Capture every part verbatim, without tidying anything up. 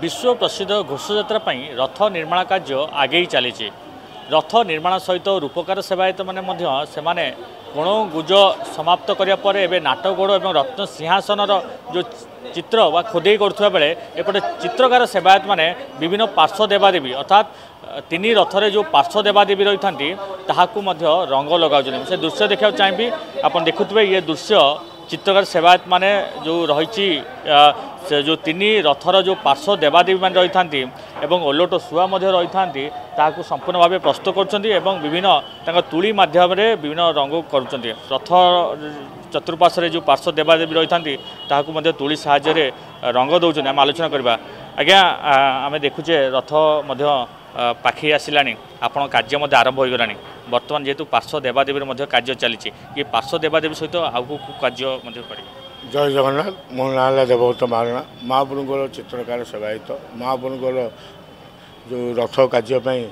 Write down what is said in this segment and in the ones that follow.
ବିଶ୍ୱ ପ୍ରସିଦ୍ଧ ଘୋଷଯାତ୍ରା ପାଇଁ ରଥ ନିର୍ମାଣ କାର୍ଯ୍ୟ ଆଗେଇ ଚାଲିଛି। ରଥ ନିର୍ମାଣ ସହିତ ରୂପକାର ସେବାୟତମାନେ ମଧ୍ୟ ସେମାନେ କୋଣ ଗୁଜ ସମାପ୍ତ କରିବା ପରେ ଏବେ ନାଟଗୋଡ଼ ଏବଂ ରତ୍ନ ସିଂହାସନର ଯେଉଁ ଚିତ୍ର ବା ଖୋଦେଇ କରୁଥିବା ବେଳେ ଏପଟେ ଚିତ୍ରକାର ସେବାୟତମାନେ ବିଭିନ୍ନ ପାର୍ଶ୍ୱ ଦେବାଦେବୀ ଅର୍ଥାତ୍ ତିନି ରଥରେ ଯେଉଁ ପାର୍ଶ୍ୱ ଦେବାଦେବୀ ରହିଥାନ୍ତି ତାହାକୁ ମଧ୍ୟ ରଙ୍ଗ ଲଗାଉଛନ୍ତି। ସେ ଦୃଶ୍ୟ ଦେଖିବାକୁ ଚାହିଁବି, ଆପଣ ଦେଖୁଥିବେ ଇଏ ଦୃଶ୍ୟ ଚିତ୍ରକାର ସେବାୟତମାନେ ଯେଉଁ ରହିଛି ସେ ଯେଉଁ ତିନି ରଥର ଯେଉଁ ପାର୍ଶ୍ୱ ଦେବାଦେବୀମାନେ ରହିଥାନ୍ତି ଏବଂ ଓଲଟ ଶୁଆ ମଧ୍ୟ ରହିଥାନ୍ତି ତାହାକୁ ସମ୍ପୂର୍ଣ୍ଣ ଭାବେ ପ୍ରସ୍ତୁତ କରୁଛନ୍ତି ଏବଂ ବିଭିନ୍ନ ତାଙ୍କ ତୁଳି ମାଧ୍ୟମରେ ବିଭିନ୍ନ ରଙ୍ଗ କରୁଛନ୍ତି। ରଥ ଚତୁଃପାର୍ଶ୍ୱରେ ଯେଉଁ ପାର୍ଶ୍ୱ ଦେବାଦେବୀ ରହିଥାନ୍ତି ତାହାକୁ ମଧ୍ୟ ତୁଳି ସାହାଯ୍ୟରେ ରଙ୍ଗ ଦେଉଛନ୍ତି। ଆମେ ଆଲୋଚନା କରିବା। ଆଜ୍ଞା, ଆମେ ଦେଖୁଛେ ରଥ ମଧ୍ୟ ପାଖେଇ ଆସିଲାଣି, ଆପଣଙ୍କ କାର୍ଯ୍ୟ ମଧ୍ୟ ଆରମ୍ଭ ହୋଇଗଲାଣି। ବର୍ତ୍ତମାନ ଯେହେତୁ ପାର୍ଶ୍ୱ ଦେବାଦେବୀର ମଧ୍ୟ କାର୍ଯ୍ୟ ଚାଲିଛି, ଇଏ ପାର୍ଶ୍ୱ ଦେବାଦେବୀ ସହିତ ଆଉ କେଉଁ କେଉଁ କାର୍ଯ୍ୟ ମଧ୍ୟ କରିବେ? ଜୟ ଜଗନ୍ନାଥ। ମୋ ନାଁ ହେଲା ଦେବବ୍ରତ ମହାରଣା, ମହାପ୍ରଭୁଙ୍କର ଚିତ୍ରକାର ସେବାୟତ। ମହାପ୍ରଭୁଙ୍କର ଯେଉଁ ରଥ କାର୍ଯ୍ୟ ପାଇଁ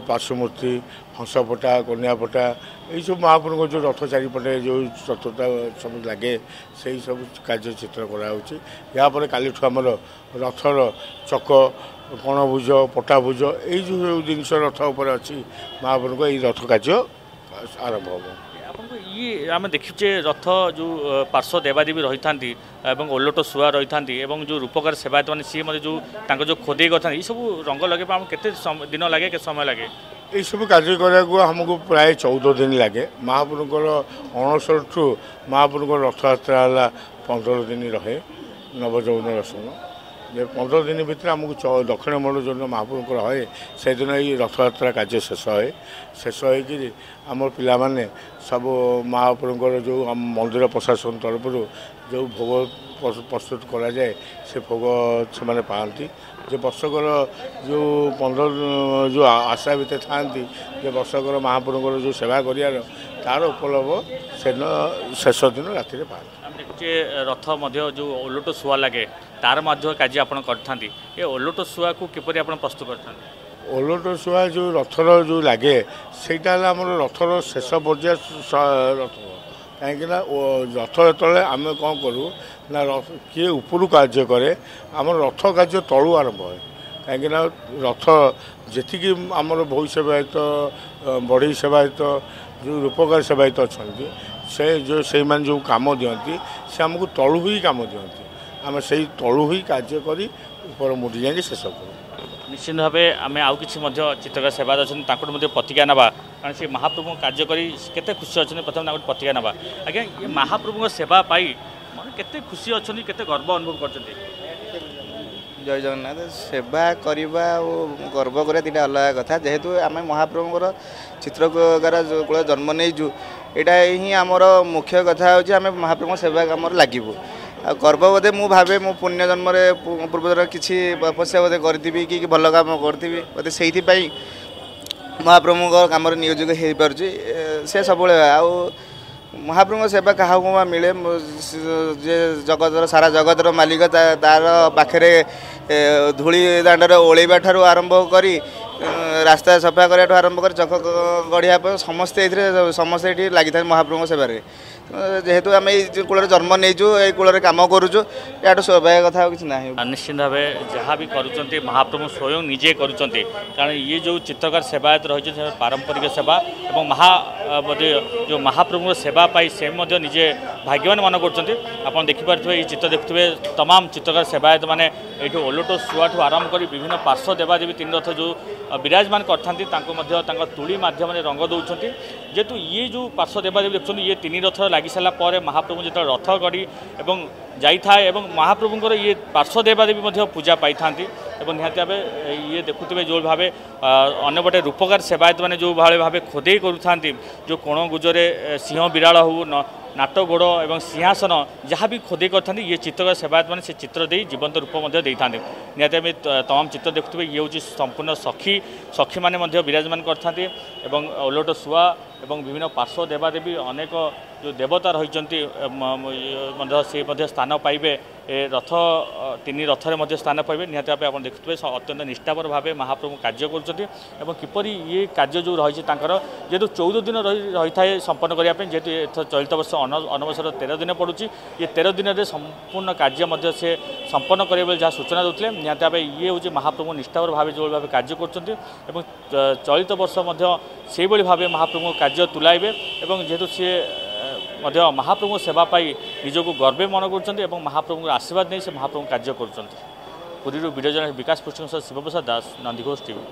ପାର୍ଶ୍ୱମୂର୍ତ୍ତି, ହଂସପଟା, କନ୍ୟାପଟା, ଏଇସବୁ ମହାପ୍ରଭୁଙ୍କ ଯେଉଁ ରଥ ଚାରିପଟେ ଯେଉଁ ଚତୁର୍ଥା ସବୁ ଲାଗେ ସେଇ ସବୁ କାର୍ଯ୍ୟ ଚିତ୍ର କରାହେଉଛି। ଏହାପରେ କାଲିଠୁ ଆମର ରଥର ଚକ, କଣଭୁଜ, ପଟାଭୁଜ, ଏଇ ଯେଉଁ ଜିନିଷ ରଥ ଉପରେ ଅଛି ମହାପ୍ରଭୁଙ୍କ ଏଇ ରଥ କାର୍ଯ୍ୟ ଆରମ୍ଭ ହେବ। ଆପଣଙ୍କୁ ଇଏ ଆମେ ଦେଖିଛେ ରଥ ଯେଉଁ ପାର୍ଶ୍ୱ ଦେବାଦେବୀ ରହିଥାନ୍ତି ଏବଂ ଓଲଟ ଶୁଆ ରହିଥାନ୍ତି ଏବଂ ଯେଉଁ ରୂପକାର ସେବାୟତମାନେ ସିଏ ମଧ୍ୟ ଯେଉଁ ତାଙ୍କ ଯେଉଁ ଖୋଦେଇ କରିଥାନ୍ତି, ଏଇସବୁ ରଙ୍ଗ ଲଗେଇବା ଆମକୁ କେତେ ଦିନ ଲାଗେ, କେତେ ସମୟ ଲାଗେ? ଏଇସବୁ କାର୍ଯ୍ୟ କରିବାକୁ ଆମକୁ ପ୍ରାୟ ଚଉଦ ଦିନ ଲାଗେ। ମହାପ୍ରଭୁଙ୍କର ଅଣସରଠୁ ମହାପ୍ରଭୁଙ୍କର ରଥଯାତ୍ରା ହେଲା ପନ୍ଦର ଦିନ ରହେ ନବଯୌବନ ଦର୍ଶନ। ଯେ ପନ୍ଦର ଦିନ ଭିତରେ ଆମକୁ ଦକ୍ଷିଣ ମୋଡ଼ ଯେଉଁଦିନ ମହାପ୍ରଭୁଙ୍କର ହଏ ସେଦିନ ଏଇ ରଥଯାତ୍ରା କାର୍ଯ୍ୟ ଶେଷ ହୁଏ। ଶେଷ ହୋଇକିରି ଆମର ପିଲାମାନେ ସବୁ ମହାପ୍ରଭୁଙ୍କର ଯେଉଁ ଆମ ମନ୍ଦିର ପ୍ରଶାସନ ତରଫରୁ ଯେଉଁ ଭୋଗ ପ୍ରସ୍ତୁତ କରାଯାଏ ସେ ଭୋଗ ସେମାନେ ପାଆନ୍ତି। ଯେ ବର୍ଷକର ଯେଉଁ ପନ୍ଦର ଯେଉଁ ଆଶା ଭିତରେ ଥାଆନ୍ତି ଯେ ବର୍ଷକର ମହାପ୍ରଭୁଙ୍କର ଯେଉଁ ସେବା କରିବାର ତାର ଉପଲବ୍ଧ ସେଦିନ ଶେଷ ଦିନ ରାତିରେ ପାଆନ୍ତି। ଆମେ ଦେଖୁଛେ ରଥ ମଧ୍ୟ ଯେଉଁ ଓଲଟ ଶୁଆ ଲାଗେ ତାର ମଧ୍ୟ କାର୍ଯ୍ୟ ଆପଣ କରିଥାନ୍ତି। ଏ ଓଲଟ ଶୁଆକୁ କିପରି ଆପଣ ପ୍ରସ୍ତୁତ କରିଥାନ୍ତି? ଓଲଟ ଶୁଆ ଯେଉଁ ରଥର ଯେଉଁ ଲାଗେ ସେଇଟା ହେଲା ଆମର ରଥର ଶେଷ ପର୍ଯ୍ୟାୟ ରଥ। କାହିଁକିନା ରଥ ଯେତେବେଳେ ଆମେ କ'ଣ କରୁ ନା କିଏ ଉପରୁ କାର୍ଯ୍ୟ କରେ, ଆମର ରଥ କାର୍ଯ୍ୟ ତଳୁ ଆରମ୍ଭ ହୁଏ। କାହିଁକିନା ରଥ ଯେତିକି ଆମର ଭୋଇ ସେବାୟତ, ବଢ଼େଇ ସେବାୟତ, ଯେଉଁ ରୂପକାର ସେବାୟତ ଅଛନ୍ତି ସେ ଯେଉଁ ସେଇମାନେ ଯେଉଁ କାମ ଦିଅନ୍ତି ସେ ଆମକୁ ତଳୁ ହିଁ କାମ ଦିଅନ୍ତି। ଆମେ ସେଇ ତଳୁ ହିଁ କାର୍ଯ୍ୟ କରି ଉପର ମୁଣ୍ଡି ଯାଇକି ଶେଷ କରୁ। ନିଶ୍ଚିତ ଭାବେ ଆମେ ଆଉ କିଛି ମଧ୍ୟ ଚିତ୍ରକାର ସେବାୟତ ଅଛନ୍ତି ତାଙ୍କଠୁ ମଧ୍ୟ ପ୍ରତିଜ୍ଞା ନେବା, କାରଣ ସେ ମହାପ୍ରଭୁଙ୍କ କାର୍ଯ୍ୟ କରି କେତେ ଖୁସି ଅଛନ୍ତି। ପ୍ରଥମେ ତାଙ୍କଠୁ ପ୍ରତିଜ୍ଞା ନେବା। ଆଜ୍ଞା, ଏ ମହାପ୍ରଭୁଙ୍କ ସେବା ପାଇ ମାନେ କେତେ ଖୁସି ଅଛନ୍ତି, କେତେ ଗର୍ବ ଅନୁଭବ କରୁଛନ୍ତି? ଜୟ ଜଗନ୍ନାଥ। ସେବା କରିବା ଆଉ ଗର୍ବ କରିବା ଦୁଇଟା ଅଲଗା କଥା। ଯେହେତୁ ଆମେ ମହାପ୍ରଭୁଙ୍କର ଚିତ୍ରକାର କୂଳ ଜନ୍ମ ନେଇଛୁ, ଏଇଟା ହିଁ ଆମର ମୁଖ୍ୟ କଥା ହେଉଛି ଆମେ ମହାପ୍ରଭୁଙ୍କ ସେବା କାମରେ ଲାଗିବୁ। ଆଉ ଗର୍ବ ବୋଧେ ମୁଁ ଭାବେ ମୁଁ ପୁଣ୍ୟ ଜନ୍ମରେ ପୂର୍ବଜନ୍ମରେ କିଛି ତପସ୍ୟା ବୋଧେ କରିଥିବି କି ଭଲ କାମ କରିଥିବି ବୋଧେ, ସେଇଥିପାଇଁ ମହାପ୍ରଭୁଙ୍କ କାମରେ ନିୟୋଜିତ ହେଇପାରୁଛି ସେ ସବୁବେଳେ। ଆଉ ମହାପ୍ରଭୁଙ୍କ ସେବା କାହାକୁ ବା ମିଳେ? ଯେ ଜଗତର ସାରା ଜଗତର ମାଲିକ ତାର ପାଖରେ ଧୂଳି ଦାଣ୍ଡରେ ଓଳେଇବା ଠାରୁ ଆରମ୍ଭ କରି ରାସ୍ତା ସଫା କରିବାଠୁ ଆରମ୍ଭ କରି ଚକ ଗଢ଼ିବା ପାଇଁ ସମସ୍ତେ ଏଥିରେ ସମସ୍ତେ ଏଠି ଲାଗିଥାନ୍ତି ମହାପ୍ରଭୁଙ୍କ ସେବାରେ। ଯେହେତୁ ଆମେ ଏଇ କୂଳରେ ଜନ୍ମ ନେଇଛୁ, ଏଇ କୂଳରେ କାମ କରୁଛୁ, ଏହାଠୁ ସୌଭାଗ୍ୟ କଥା ଆଉ କିଛି ନାହିଁ। ନିଶ୍ଚିତ ଭାବେ ଯାହା ବି କରୁଛନ୍ତି ମହାପ୍ରଭୁ ସ୍ୱୟଂ ନିଜେ କରୁଛନ୍ତି, କାରଣ ଇଏ ଯେଉଁ ଚିତ୍ରକାର ସେବାୟତ ରହିଛନ୍ତି ସେ ପାରମ୍ପରିକ ସେବା ଏବଂ ମହା ବୋଧେ ଯେଉଁ ମହାପ୍ରଭୁଙ୍କ ସେବା ପାଇ ସେ ମଧ୍ୟ ନିଜେ ଭାଗ୍ୟବାନ ମନେ କରୁଛନ୍ତି। ଆପଣ ଦେଖିପାରୁଥିବେ ଏଇ ଚିତ୍ର ଦେଖୁଥିବେ ତମାମ ଚିତ୍ରକାର ସେବାୟତ ମାନେ ଏଇଠୁ ଓଲଟ ଶୁଆଠୁ ଆରମ୍ଭ କରି ବିଭିନ୍ନ ପାର୍ଶ୍ୱ ଦେବାଦେବୀ ତିନି ରଥ ଯେଉଁ ବିରାଜମାନ କରିଥାନ୍ତି ତାଙ୍କୁ ମଧ୍ୟ ତାଙ୍କ ତୁଳି ମାଧ୍ୟମରେ ରଙ୍ଗ ଦେଉଛନ୍ତି। ଯେହେତୁ ଇଏ ଯେଉଁ ପାର୍ଶ୍ୱ ଦେବାଦେବୀ ଦେଖୁଛନ୍ତି ଇଏ ତିନି ରଥ ଲାଗି ସାରିଲା ପରେ ମହାପ୍ରଭୁ ଯେତେବେଳେ ରଥ ଗଡ଼ି ଏବଂ ଯାଇଥାଏ ଏବଂ ମହାପ୍ରଭୁଙ୍କର ଇଏ ପାର୍ଶ୍ୱ ଦେବାଦେବୀ ମଧ୍ୟ ପୂଜା ପାଇଥାନ୍ତି। ଏବଂ ନିହାତି ଭାବେ ଇଏ ଦେଖୁଥିବେ ଯେଉଁ ଭାବେ ଅନ୍ୟପଟେ ରୂପକାର ସେବାୟତମାନେ ଯେଉଁ ଭାବେ ଭାବେ ଖୋଦେଇ କରୁଥାନ୍ତି, ଯେଉଁ କୋଣ ଗୁଜରେ ସିଂହ ବିରାଳ ହେଉ ନାଟ ଗୋଡ଼ ଏବଂ ସିଂହାସନ ଯାହା ବି ଖୋଦେଇ କରିଥାନ୍ତି ଇଏ ଚିତ୍ରକାର ସେବାୟତମାନେ ସେ ଚିତ୍ର ଦେଇ ଜୀବନ୍ତ ରୂପ ମଧ୍ୟ ଦେଇଥାନ୍ତି। ନିହାତି ଆମେ ତମାମ ଚିତ୍ର ଦେଖୁଥିବେ ଇଏ ହେଉଛି ସମ୍ପୂର୍ଣ୍ଣ ସଖୀ, ସଖୀମାନେ ମଧ୍ୟ ବିରାଜମାନ କରିଥାନ୍ତି ଏବଂ ଓଲଟ ଶୁଆ ଏବଂ ବିଭିନ୍ନ ପାର୍ଶ୍ୱ ଦେବାଦେବୀ ଅନେକ ଯେଉଁ ଦେବତା ରହିଛନ୍ତି ମଧ୍ୟ ସେ ମଧ୍ୟ ସ୍ଥାନ ପାଇବେ ଏ ରଥ ତିନି ରଥରେ ମଧ୍ୟ ସ୍ଥାନ ପାଇବେ। ନିହାତି ଭାବେ ଆପଣ ଦେଖୁଥିବେ, ଅତ୍ୟନ୍ତ ନିଷ୍ଠାପର ଭାବେ ମହାପ୍ରଭୁ କାର୍ଯ୍ୟ କରୁଛନ୍ତି ଏବଂ କିପରି ଇଏ କାର୍ଯ୍ୟ ଯେଉଁ ରହିଛି ତାଙ୍କର, ଯେହେତୁ ଚଉଦ ଦିନ ରହି ରହିଥାଏ ସମ୍ପନ୍ନ କରିବା ପାଇଁ, ଯେହେତୁ ଏଥର ଚଳିତ ବର୍ଷ ଅନବସର ତେର ଦିନ ପଡ଼ୁଛି, ଇଏ ତେର ଦିନରେ ସମ୍ପୂର୍ଣ୍ଣ କାର୍ଯ୍ୟ ମଧ୍ୟ ସେ ସମ୍ପନ୍ନ କରିବେ ବୋଲି ଯାହା ସୂଚନା ଦେଉଥିଲେ। ନିହାତି ଭାବେ ଇଏ ହେଉଛି ମହାପ୍ରଭୁ ନିଷ୍ଠାପର ଭାବେ ଯେଉଁଭଳି ଭାବେ କାର୍ଯ୍ୟ କରୁଛନ୍ତି ଏବଂ ଚଳିତ ବର୍ଷ ମଧ୍ୟ ସେଇଭଳି ଭାବେ ମହାପ୍ରଭୁଙ୍କ କାର୍ଯ୍ୟ ତୁଲାଇବେ ଏବଂ ଯେହେତୁ ସିଏ ମଧ୍ୟ ମହାପ୍ରଭୁଙ୍କ ସେବା ପାଇ ନିଜକୁ ଗର୍ବେ ମନେ କରୁଛନ୍ତି ଏବଂ ମହାପ୍ରଭୁଙ୍କର ଆଶୀର୍ବାଦ ନେଇ ସେ ମହାପ୍ରଭୁଙ୍କ କାର୍ଯ୍ୟ କରୁଛନ୍ତି। ପୁରୀରୁ ଭିଡ଼ିଓ ଜର୍ଣ୍ଣାଲିଷ୍ଟ ବିକାଶ ପୃଷ୍ଟିଙ୍କ ସହ ଶିବପ୍ରସାଦ ଦାସ, ନନ୍ଦିଘୋଷ ଟିଭି।